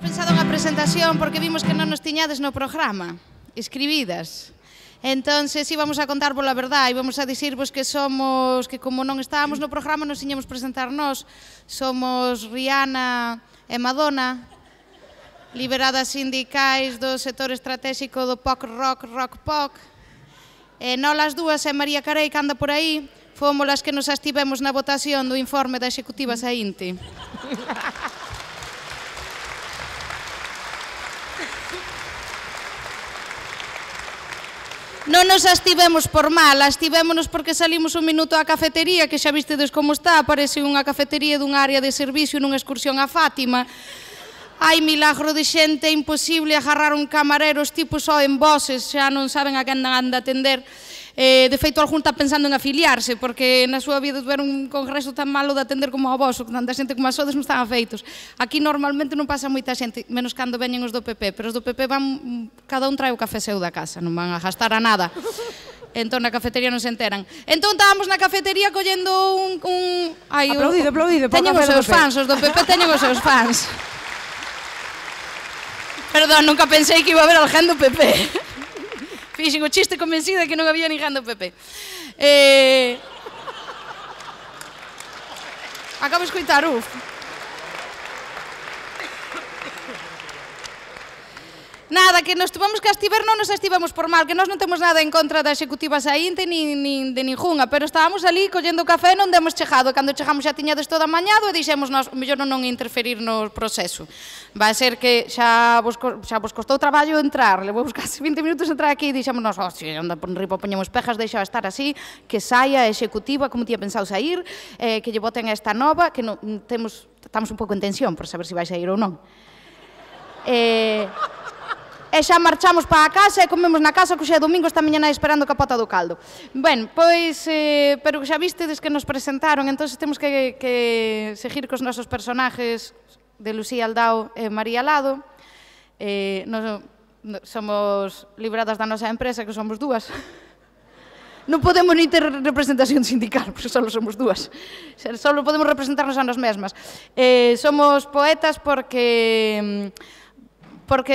pensado unha presentación porque vimos que non nos tiñades no programa, escribidas. Entonces íbamos a contar pola verdade, íbamos a dicirvos que somos, que como non estábamos no programa nos iñamos presentar nós, somos Rihanna e Madonna, liberadas sindicais do sector estratégico do pop rock, rock pop. E nós as dúas e María Carey, que anda por aí, fomos as que nos abstivemos na votación do informe da Executiva saínte. Non nos abstivemos por mal, abstivémonos porque salimos un minuto á cafetería, que xa vistedes como está, parece unha cafetería dunha área de servicio nunha excursión a Fátima. Hai milagro de xente, imposible agarrar un camarero, os tipos só en voces, xa non saben a quen han de atender. De feito, algún está pensando en afiliarse, porque na súa vida tuveron un congreso tan malo de atender como o vosso, tanta xente como a sodes non están afeitos. Aquí normalmente non pasa moita xente, menos cando veñen os do PP, pero os do PP van, cada un trae o café seu da casa, non van a gastar a nada. Entón na cafetería non se enteran. Entón estábamos na cafetería collendo un... Aplaudido, aplaudido. Teñen os seus fans, os do PP teñen os seus fans. Perdón, nunca pensei que iba a haber alguén do PP. Fixen o chiste convencida que non había ninguén do PP. Acabo de escoitar, Nada, que nos tuvamos que abstiver, non nos abstivemos por mal, que nós non temos nada en contra da Executiva saínte, nin de ningunha, pero estábamos ali collendo café e non demos chegado. Cando chegamos xa tiñades toda amañado e dixemos nós, mellor non interferir no proceso. Vai ser que xa vos costou traballo entrar, levamos casi 20 minutos entrar aquí e dixemos nós, se anda por riba poñemos pejas, deixa estar así, que saia a Executiva, como tía pensado sair, que lle voten a esta nova, que estamos un pouco en tensión por saber se vai sair ou non. E xa marchamos para a casa e comemos na casa, que xa é domingo, esta mañana esperando a pota do caldo. Ben, pois, pero xa vistedes que nos presentaron, entón temos que seguir cos nosos personajes de Lucía Aldao e María Lado. Somos libradas da nosa empresa, que somos dúas. Non podemos ni ter representación sindical, porque só somos dúas. Só podemos representarnos a nos mesmas. Somos poetas porque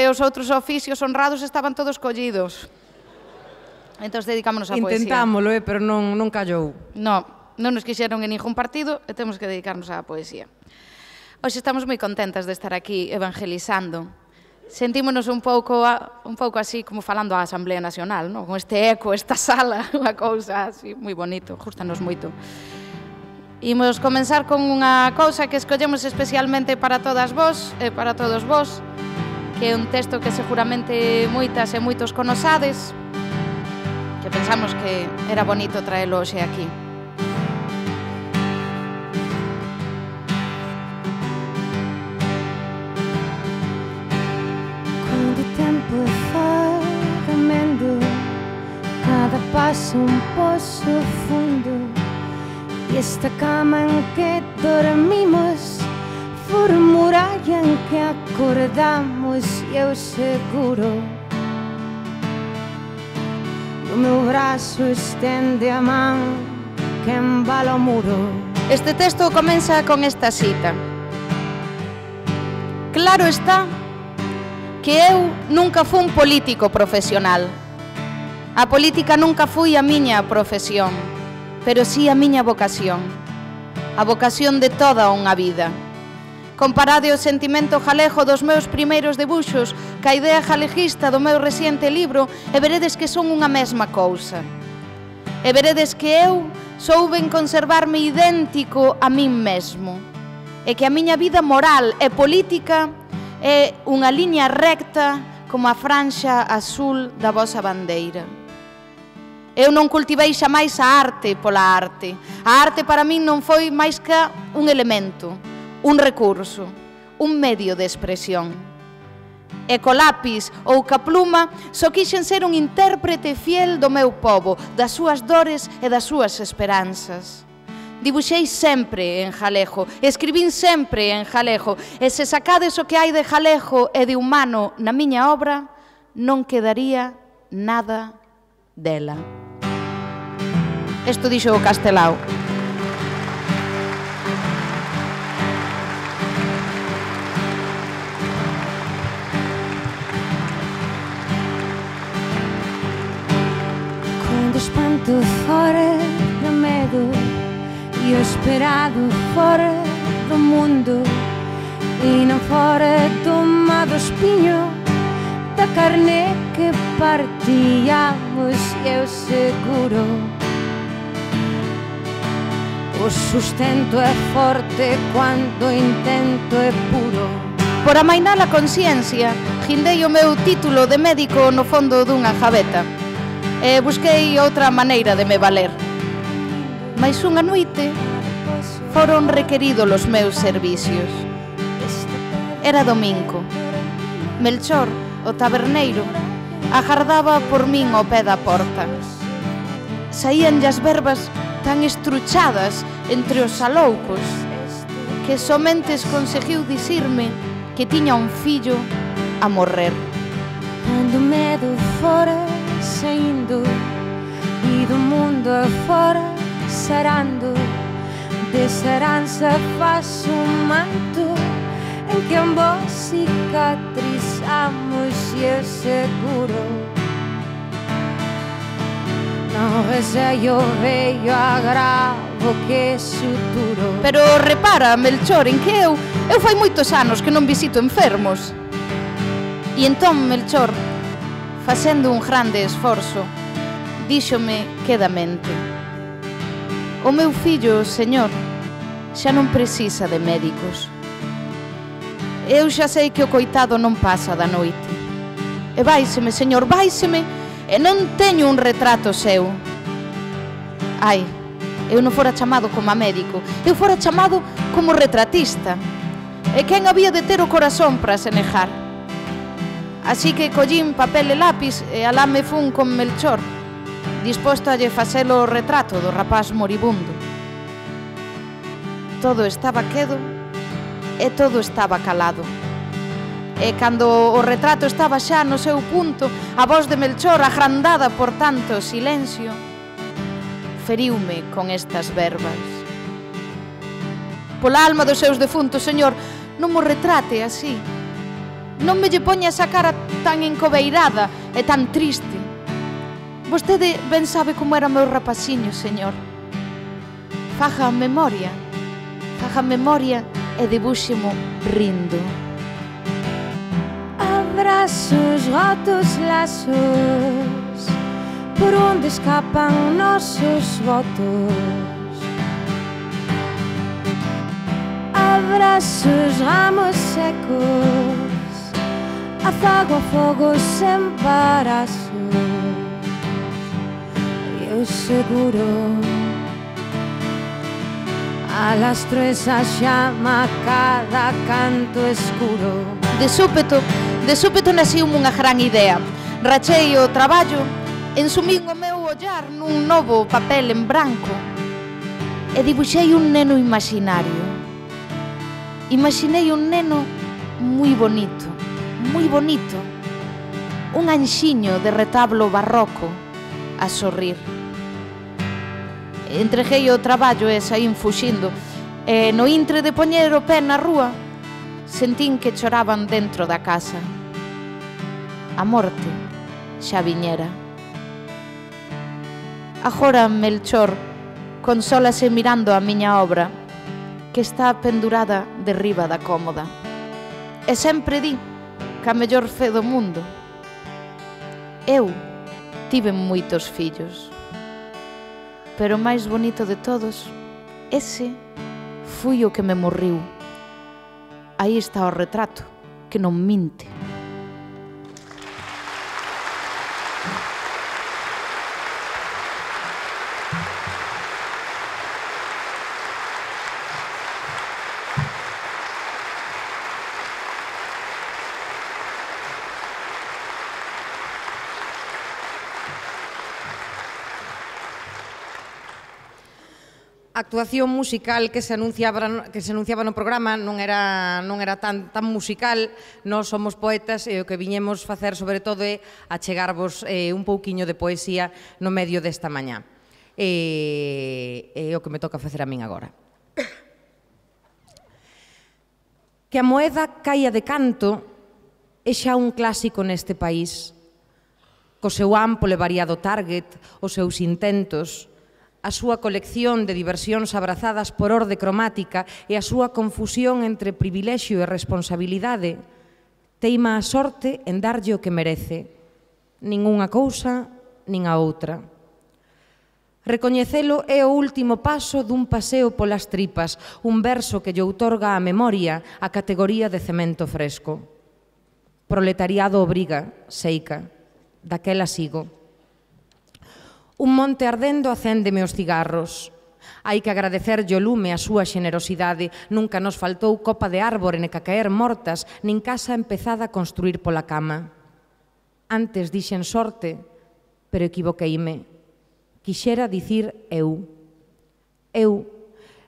os outros oficios honrados estaban todos collidos. Entón dedicámonos á poesía. Intentámoslo, pero non callou. Non nos quixeron en ningún partido e temos que dedicarnos á poesía. Hoxe estamos moi contentas de estar aquí evangelizando. Sentímonos un pouco así como falando á Asamblea Nacional, non? Con este eco, esta sala, unha cousa así moi bonito, gustanos moito. Imos comenzar con unha cousa que escollemos especialmente para todas vos e para todos vos, que é un texto que seguramente moitas e moitos conosades, que pensamos que era bonito traelo hoxe aquí. Quando o tempo é ferramenta, cada passo un poço fundo, e esta cama en que dormimos por muralla en que acordamos, e eu seguro no meu brazo estende a man que embala o muro. Este texto comeza con esta cita: claro está que eu nunca fui un político profesional. A política nunca foi a miña profesión, pero sí a miña vocación, a vocación de toda unha vida. Comparade o sentimento galego dos meus primeiros debuxos ca idea galegista do meu reciente libro e veredes que son unha mesma cousa. E veredes que eu souben conservarme idéntico a min mesmo e que a miña vida moral e política é unha liña recta como a franxa azul da vosa bandeira. Eu non cultivei xamais a arte pola arte. A arte para min non foi máis que un elemento, un recurso, un medio de expresión. E co lápis ou ca pluma só quixen ser un intérprete fiel do meu pobo, das súas dores e das súas esperanzas. Dibuxei sempre en galego, escribín sempre en galego, e se sacades o que hai de galego e de humano na miña obra, non quedaría nada dela. Isto dixo o Castelao. espanto fora de medo e o esperado fora do mundo e non fora do má do espinho da carne que partíamos e eu seguro o sustento é forte quando o intento é puro. Por amainar a conciencia, guindei o meu título de médico no fondo dunha gaveta e busquei outra maneira de me valer. Mais unha noite foron requeridos os meus servicios. Era domingo. Melchor, o taberneiro, agardaba por min ao pé da porta. Saíanlle as verbas tan estruchadas entre os aloucos que somente conseguiu dicirme que tiña un fillo a morrer. Cando o medo fora saindo e do mundo afora sarando, desa heranza faz un manto en que ambos cicatrizamos e eu seguro non receio vello agravo que suturo. Pero repara, Melchor, en que eu fai moitos anos que non visito enfermos. E entón Melchor, facendo un grande esforzo, díxome quedamente: o meu fillo, señor, xa non precisa de médicos. Eu xa sei que o coitado non pasa da noite. E váiseme, señor, váiseme, e non teño un retrato seu. Ai, eu non fora chamado como médico, eu fora chamado como retratista. E quen había de ter o corazón para se negar? Así que collín papel e lápis e alá me fun con Melchor, disposto a lle facelo o retrato do rapaz moribundo. Todo estaba quedo e todo estaba calado. E cando o retrato estaba xa no seu punto, a voz de Melchor, agrandada por tanto silencio, feriume con estas verbas: pola alma dos seus defuntos, señor, non mo retrate así. Non me lle poña esa cara tan encobeirada e tan triste. Vostede ben sabe como era o meu rapaciño, señor. Faja memoria e dibúxemo rindo. Abraços, rotos, laços, por onde escapam nossos votos. Abraços, ramos secos, afago a fogo sem embaraços. Eu seguro alastro esa chama a cada canto escuro. De súpeto naciume unha gran idea. Rachei o traballo, ensumín o meu ollar nun novo papel en branco e dibuixei un neno imaginario. Imaginei un neno moi bonito, un anxiño de retablo barroco a sorrir. Entreguei o traballo e saín fuxindo, e no intre de poñer o pé na rúa sentín que choraban dentro da casa. A morte xa viñera. Agora Melchor consólase mirando a miña obra, que está pendurada derriba da cómoda. E sempre di que a mellor fe do mundo. Eu tive moitos fillos, pero o máis bonito de todos, ese foi o que me morriu. Aí está o retrato, que non minte. A actuación musical que se anunciaba no programa non era tan musical. Nós somos poetas e o que viñemos facer sobre todo é achegarvos un pouquiño de poesía no medio desta mañá. É o que me toca facer a min agora. Que a moeda caia de canto é xa un clásico neste país. co seu amplo e variado target, os seus intentos, a súa colección de diversións abrazadas por orde cromática e a súa confusión entre privilexio e responsabilidade, teima a sorte en darlle o que merece, nin unha cousa nin a outra. Recoñecelo é o último paso dun paseo polas tripas, un verso que lle outorga á memoria a categoría de cemento fresco. Proletariado obriga, seica, daquela sigo. Un monte ardendo acéndeme os cigarros. Hai que agradecerlle o lume a súa xenerosidade. Nunca nos faltou copa de árbore ne cacaer mortas, nin casa empezada a construir pola cama. Antes dixen sorte, pero equivoqueime. Quixera dicir eu.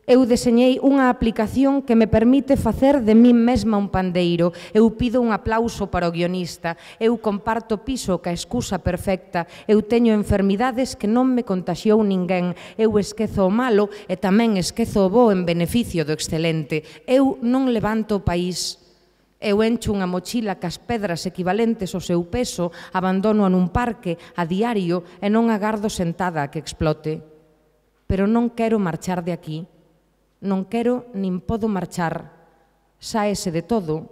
Eu deseñei unha aplicación que me permite facer de min mesma un pandeiro. Eu pido un aplauso para o guionista. Eu comparto piso ca excusa perfecta. Eu teño enfermidades que non me contaxiou ninguén. Eu esquezo o malo e tamén esquezo o bo en beneficio do excelente. Eu non levanto o país. Eu encho unha mochila cas pedras equivalentes ao seu peso, abandono nun parque a diario e non agardo sentada a que explote. Pero non quero marchar de aquí. Non quero nin podo marchar. Sáese de todo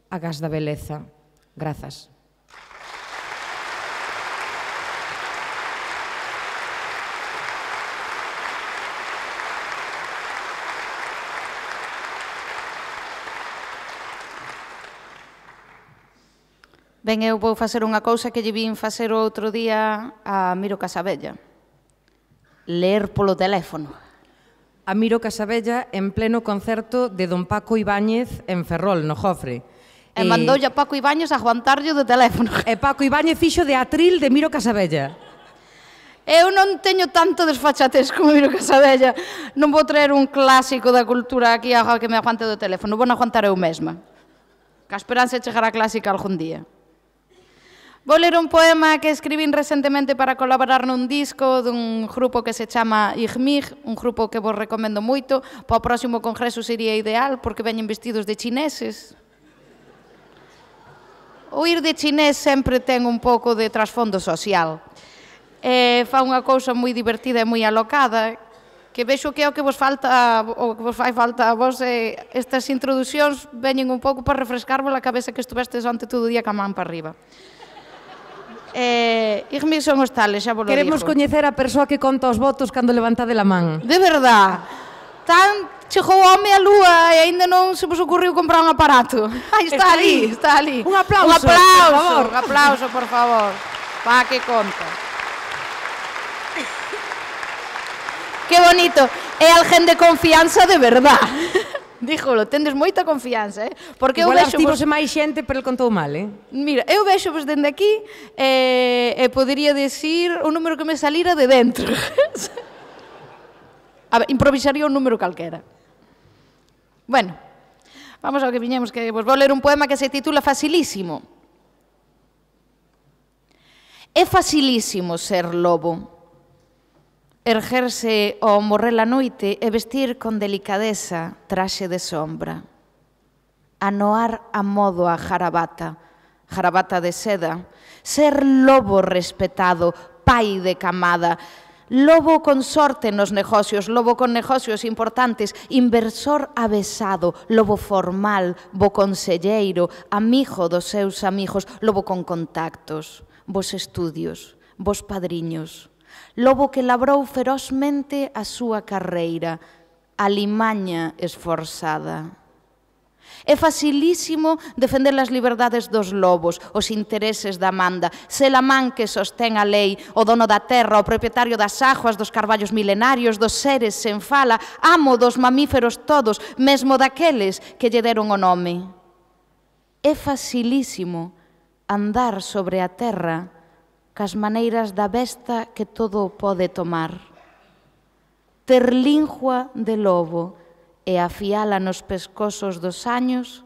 a gas da beleza. Grazas. Ben, eu vou facer unha cousa que lle vin facer o outro día a Miro Casabella. Ler polo teléfono. A Miro Casabella en pleno concerto de don Paco Ibáñez en Ferrol, no Jofre. E mandoulle a Paco Ibáñez a aguantarlle do teléfono. E Paco Ibáñez fixo de atril de Miro Casabella. Eu non teño tanto desfachatez como Miro Casabella. Non vou traer un clásico da cultura aquí a que me aguante do teléfono. Vou aguantar eu mesma. Que a esperanza de chegar a clásica algún día. Vou ler un poema que escribín recentemente para colaborar nun disco dun grupo que se chama Igmig, un grupo que vos recomendo moito. Para o próximo congreso sería ideal, porque veñen vestidos de chineses. O ir de chinés sempre ten un pouco de trasfondo social. Fa unha cousa moi divertida e moi alocada, que vexo que é o que vos falta, o que vos fai falta a vos, estas introducións veñen un pouco para refrescarvos a cabeza que estuvestes onte todo o día ca man para arriba. Igmig son os tales, xa vos lo digo. Queremos coñecer a persoa que conta os votos cando levantade a man. De verdad. Chegou o home á lúa e aínda non se vos ocurriu comprar un aparato. Está ali. Un aplauso, por favor. Un aplauso, por favor. Pa que conta. Que bonito. É alguén de confianza de verdad. Díjolo, tendes moita confianza, Porque igual eu vexo máis xente, pero el contou mal, Mira, eu vexo vos dende aquí e podería decir un número que me salira de dentro. A ver, improvisaría un número calquera. Bueno, vamos ao que viñemos, que vos vou ler un poema que se titula Facilísimo. É facilísimo ser lobo. Ergerse ao morrer a noite e vestir con delicadeza traxe de sombra. Anoar a modo a jarabata de seda. Ser lobo respetado, pai de camada. Lobo con sorte nos negocios, lobo con negocios importantes, inversor avesado, lobo formal, bo conselleiro, amigo dos seus amigos, lobo con contactos, vos estudios, vos padriños. Lobo que labrou ferozmente a súa carreira, a limaña esforzada. É facilísimo defender as liberdades dos lobos, os intereses da manda, ser a man que sostén a lei, o dono da terra, o propietario das aguas, dos carballos milenarios, dos seres sen fala, amo dos mamíferos todos, mesmo daqueles que lle deron o nome. É facilísimo andar sobre a terra cas maneiras da besta que todo o pode tomar. Ter lingua de lobo e afiala nos pescosos dos años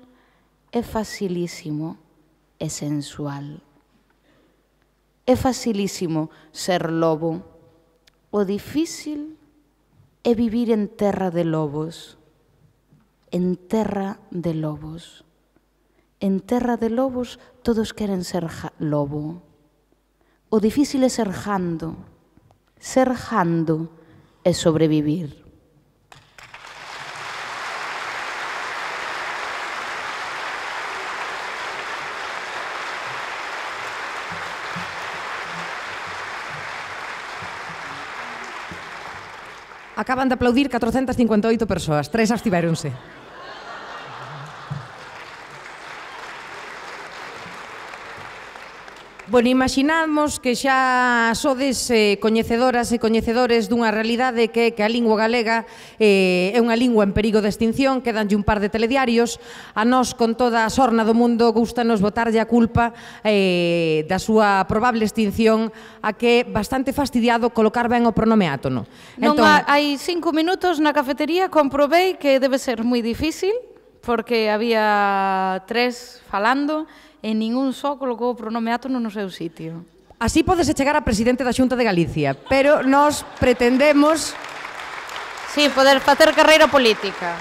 é facilísimo e sensual. É facilísimo ser lobo. O difícil é vivir en terra de lobos. En terra de lobos. En terra de lobos todos queren ser lobo. O difícil é ser jando. Ser jando é sobrevivir. Acaban de aplaudir 458 persoas, 3 abstivéronse. Bueno, imaginamos que xa sodes coñecedoras e coñecedores dunha realidade que a lingua galega é unha lingua en perigo de extinción, quedanlle un par de telediarios. A nós, con toda a sorna do mundo, gústanos botarlle a culpa da súa probable extinción a que é bastante fastidiado colocar ben o pronome átono. Non hai 5 minutos na cafetería comprobei que debe ser moi difícil porque había 3 falando e ningún só colocou o pronome átono no seu sitio. Así podese chegar a presidente da Xunta de Galicia, pero nós pretendemos... Sí, poder facer carreira política.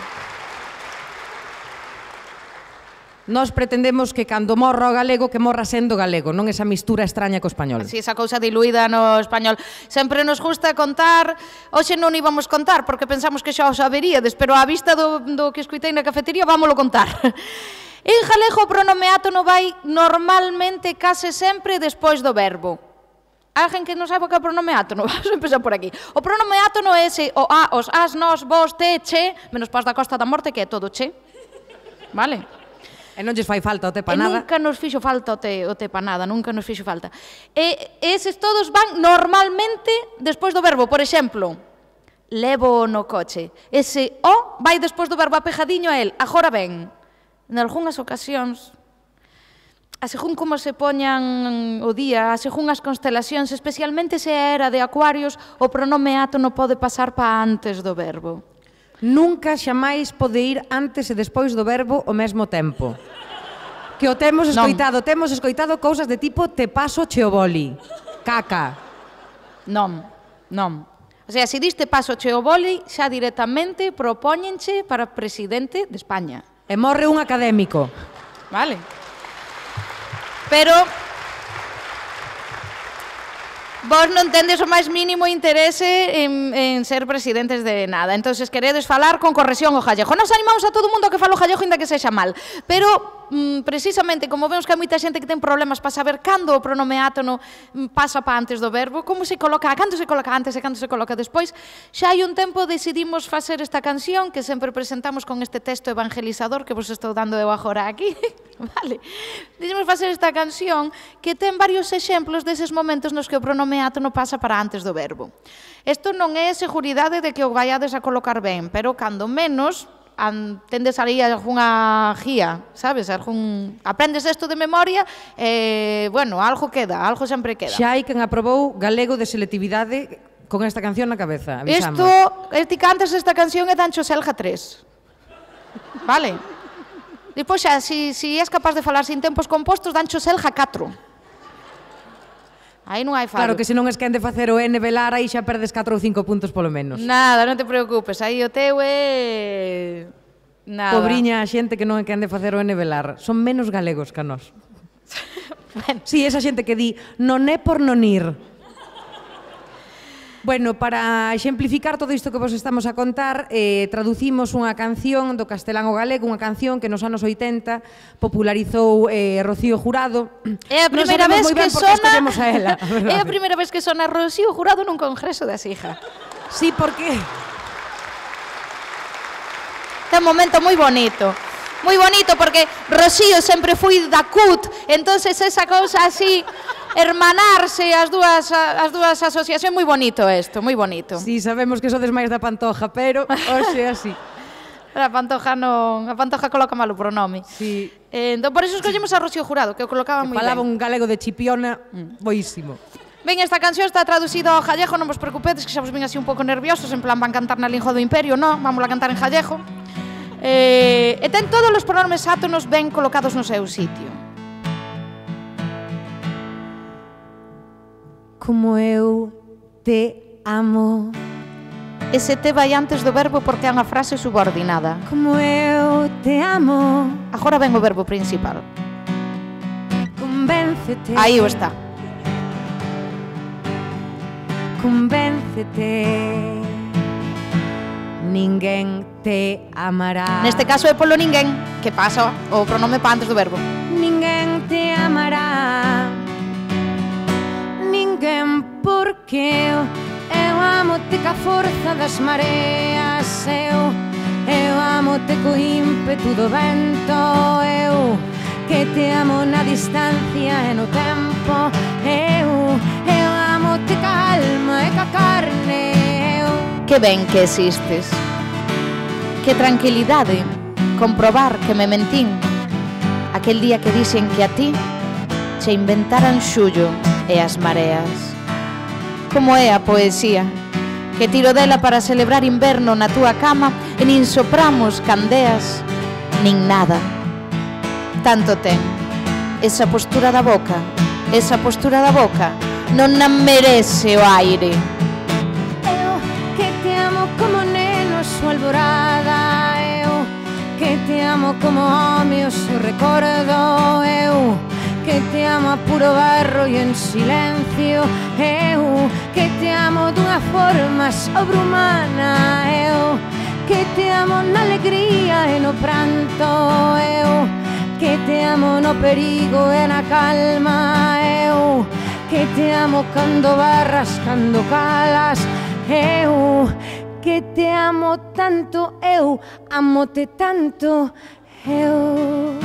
Nós pretendemos que cando morra o galego, que morra sendo galego, non esa mistura extraña co español. Así, esa cousa diluída no español. Sempre nos gusta contar, hoxe non íbamos contar, porque pensamos que xa o saberíades, pero á vista do que escuitei na cafetería, vámolo contar. En galego o pronome átono vai normalmente case sempre despois do verbo. Alguén que non saiba que é o pronome átono? Vamos a empezar por aquí. O pronome átono é ese, o a, os as, nos, vos, te, che, menos pas da Costa da Morte, que é todo che. Vale? E non lles fai falta o te pa nada. Nunca nos fixo falta o te pa nada, nunca nos fixo falta. E eses todos van normalmente despois do verbo. Por exemplo, levo no coche. Ese o vai despois do verbo apejadiño a el, agora ven. En algunhas ocasións, a según como se poñan o día, a según as constelacións, especialmente se era de Acuarios, o pronome átono pode pasar pa antes do verbo. Nunca xamais pode ir antes e despois do verbo ao mesmo tempo. Que o temos escoitado, temos escoitado cousas de tipo te paso che o boli, caca. Non, non. O sea, se diste paso che o boli, xa directamente propóñenche para presidente de España. E morre un académico. Vale. Pero vos non tendes o máis mínimo interese en ser presidentes de nada. Entonces queredes falar con corrección o gallego. Nos animamos a todo o mundo que fala o gallego inda que sexa mal. Pero precisamente, como vemos que hai moita xente que ten problemas para saber cando o pronome átono pasa para antes do verbo, como se coloca, cando se coloca antes e cando se coloca despois, xa hai un tempo decidimos facer esta canción que sempre presentamos con este texto evangelizador que vos estou dando eu agora aquí. Vale. Decidimos facer esta canción que ten varios exemplos deses momentos nos que o pronome átono pasa para antes do verbo. Isto non é seguridade de que o vaiades a colocar ben, pero cando menos tendes ali algunha guía, sabes? Aprendes isto de memoria e, bueno, algo queda, algo sempre queda. Xa hai quen aprobou galego de selectividade con esta canción na cabeza, avisamos. Isto, antes desta canción é Dancho Selja 3. Vale? Depois xa, se és capaz de falar sin tempos compostos, Dancho Selja 4. Aí non hai fallo. Claro que se non es quen de facer o N velar, aí xa perdes 4 ou 5 puntos polo menos. Nada, non te preocupes, aí o teu é... Nada. Pobriña a xente que non é quen de facer o N velar. Son menos galegos que a nós. Bueno. Sí, esa xente que di non é por non ir. Bueno, para exemplificar todo isto que vos estamos a contar, traducimos unha canción do castelán ao galego, unha canción que nos anos 80 popularizou Rocío Jurado. É a primeira vez que sona... A ela, é a primeira vez que sona Rocío Jurado nun congreso da Sija. Sí, porque... É un momento moi bonito. Moi bonito porque Rocío sempre foi da CUT, entonces esa cousa así, hermanarse as dúas asociacións, moi bonito isto, moi bonito. Sí, sabemos que sodes máis da Pantoja, pero hoxe así. A Pantoja non, a Pantoja coloca mal o pronome. Sí. Entón, por iso escollemos a Rocío Jurado, que o colocaba moi ben. Falaba un galego de Chipiona, boísimo. Ben, esta canción está traducida ao gallego, non vos preocupedes, que xa vos ven así un pouco nerviosos, en plan van cantar na lingua do imperio, non? Vamos a cantar en gallego. E ten todos os pronomes átonos ben colocados no seu sitio. Como eu te amo. Ese te vai antes do verbo porque é unha frase subordinada. Como eu te amo. Agora ven o verbo principal. Convéncete. Aí o está. convéncete, ninguén te amará. Neste caso é polo ninguén, que pasa o pronome pa antes do verbo. Ninguén te amará, ninguén, porque eu amo-te ca forza das mareas, eu amo-te co ímpetu do vento, eu que te amo na distancia e no tempo, eu amo-te ca alma e ca carne, eu. Que ben que existes. Que tranquilidade comprobar que me mentín aquel día que dixen que a ti che inventaran xullo e as mareas. Como é a poesía, que tiro dela para celebrar inverno na túa cama e nin sopramos candeas, nin nada. Tanto ten esa postura da boca, non a merece o aire. Eu que te amo como neno súa alborada, eu que te amo como home o seu recordo, eu que te amo a puro barro e en silencio, eu que te amo dunha forma sobrehumana, eu que te amo na alegría e no pranto, eu que te amo no perigo e na calma, eu que te amo cando barras, cando calas, eu que te amo tanto, eu amo-te tanto, eu.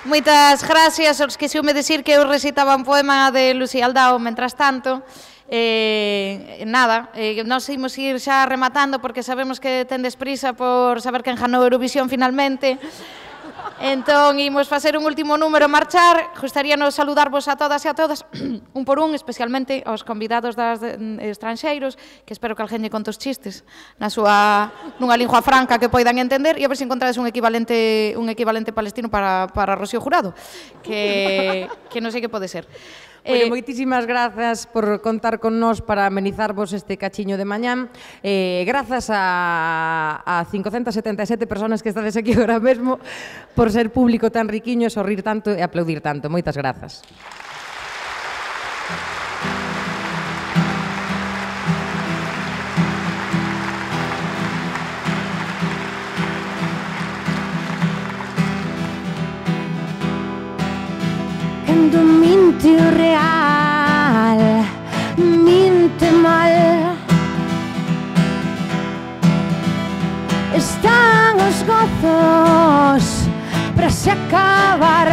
Moitas gracias aos que xeume decir que eu recitaba un poema de Lucía Aldao mentras tanto. Nada, nós imos ir xa rematando porque sabemos que tendes prisa por saber quen ganou Eurovisión finalmente. Entón, imos facer un último número marchar. Gustaríanos saludarvos a todas e a todas, un por un, especialmente aos convidados das estranxeiros, que espero que alguén lle conte os chistes nunha lingua franca que poidan entender, e a ver se encontrades un equivalente palestino para Rocío Jurado, que non sei que pode ser. Bueno, moitísimas grazas por contar con nós para amenizarvos este cachiño de mañán. Grazas a 577 personas que estades aquí agora mesmo por ser público tan riquiño, sorrir tanto e aplaudir tanto. Moitas grazas. Cando minte o real, minte mal, están os gozos para se acabar.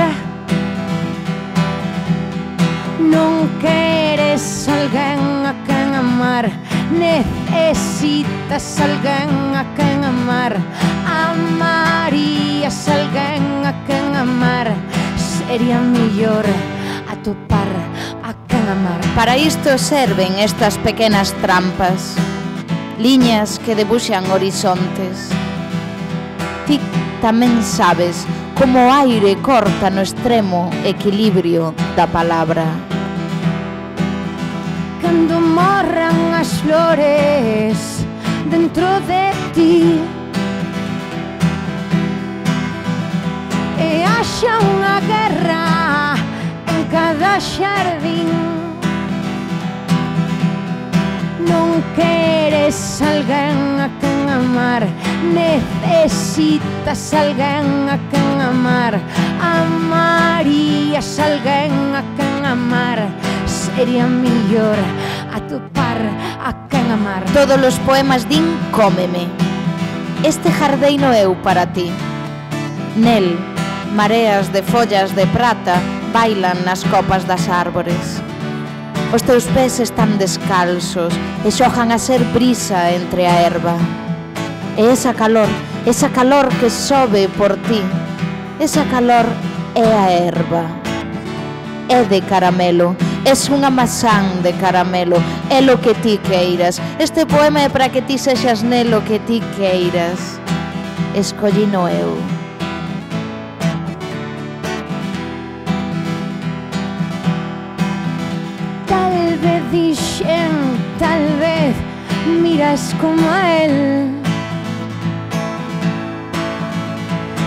Non queres alguén a quen amar, necesitas alguén a quen amar, amarías alguén a quen amar. Sería mellor atopar a quen amar. Para isto serven estas pequenas trampas, liñas que debuxan horizontes. Ti tamén sabes como o aire corta no extremo equilibrio da palabra. Cando morran as flores dentro de ti e haxa unha guerra en cada xardín, non queres alguén a quen amar, necesitas alguén a quen amar, amarías alguén a quen amar. Sería mellor atopar a quen amar. Todos os poemas din cómeme. Este jardeino eu para ti. Nel, mareas de follas de prata bailan nas copas das árbores. Os teus pés están descalzos e xogan a ser brisa entre a erva. E esa calor que sobe por ti, esa calor é a erva. É de caramelo, es unha mazán de caramelo, é lo que ti queiras. Este poema é para que ti sexas nelo que ti queiras. Escollino eu. origen, tal vez miras como a él.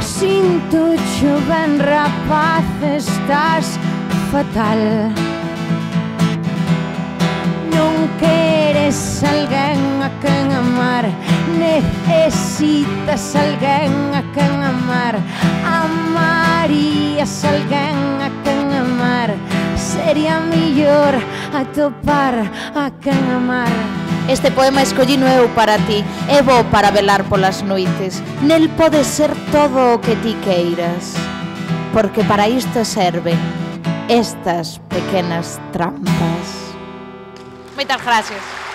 Sin tu joven rapaz estás fatal. Non queres alguén a quen amar, necesitas alguén a quen amar. Amarías alguén a quen amar, sería mellor atopar a quen amar. Este poema escollino eu para ti, é bo para velar polas noites. Nel pode ser todo o que ti queiras, porque para isto serven estas pequenas trampas. Moitas gracias.